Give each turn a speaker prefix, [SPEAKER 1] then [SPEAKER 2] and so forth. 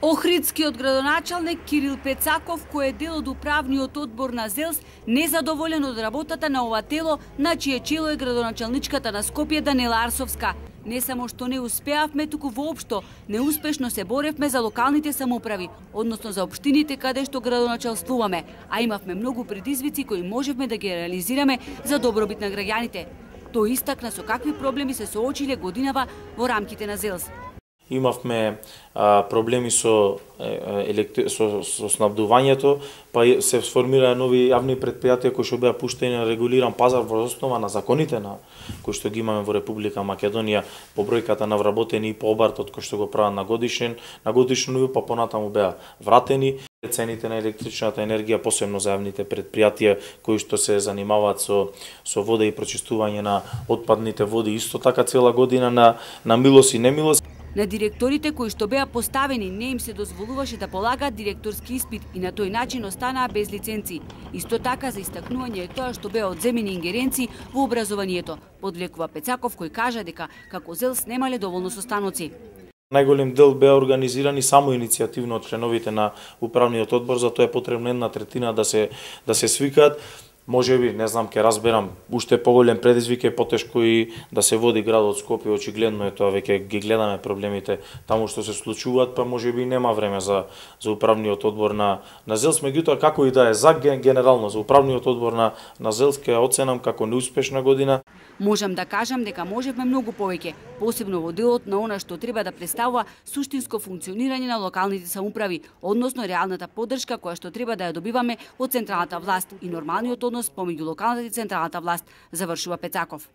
[SPEAKER 1] Охридскиот градоначалник Кирил Пецаков, кој е дел од управниот одбор на ЗЕЛС, незадоволен од работата на ова тело, на чие чело е градоначалничката на Скопје Данела Арсовска. Не само што не успеавме, туку воопшто неуспешно се боревме за локалните самоуправи, односно за општините каде што градоначалствуваме, а имавме многу предизвици кои можевме да ги реализираме за добробит на граѓаните. Тој истакна со какви проблеми се соочиле годинава во рамките на ЗЕЛС.
[SPEAKER 2] Имавме проблеми со снабдувањето, па се сформираа нови јавни предпријатија кои што беа пуштени на регулиран пазар во основа на законите кои што ги имаме во Република Македонија, по бројката на вработени и по обартот кој што го прават на годишен ниво, па понатаму беа вратени. Цените на електричната енергија, посебно за јавните предпријатија кои што се занимаваат со вода и прочистување на отпадните води, исто така цела година на милост и немилост.
[SPEAKER 1] На директорите кои што беа поставени не им се дозволуваше да полагаат директорски испит и на тој начин останаа без лиценци. Исто така за истакнување е тоа што беа одземени ингеренции во образованието, подвлекува Пецаков кој кажа дека како ЗЕЛС немале доволно состаноци.
[SPEAKER 2] Најголем дел беа организирани само иницијативно од членовите на управниот одбор, затоа е потребна една третина да се свикаат. Можеби, не знам, ќе разберам, уште поголем предизвик е потешко и да се води градот Скопје, очигледно е тоа, веќе ги гледаме проблемите таму што се случуваат, па можеби нема време за управниот одбор на ЗЕЛС, меѓутоа како и да е за генерално за управниот одбор на ЗЕЛС ќе оценам како неуспешна година.
[SPEAKER 1] Можам да кажам дека можевме многу повеќе, посебно во делот на она што треба да представува суштинско функционирање на локалните самоуправи, односно реалната поддршка која што треба да ја добиваме од централната власт и нормалниот однос помеѓу локалната и централната власт, завршува Пецаков.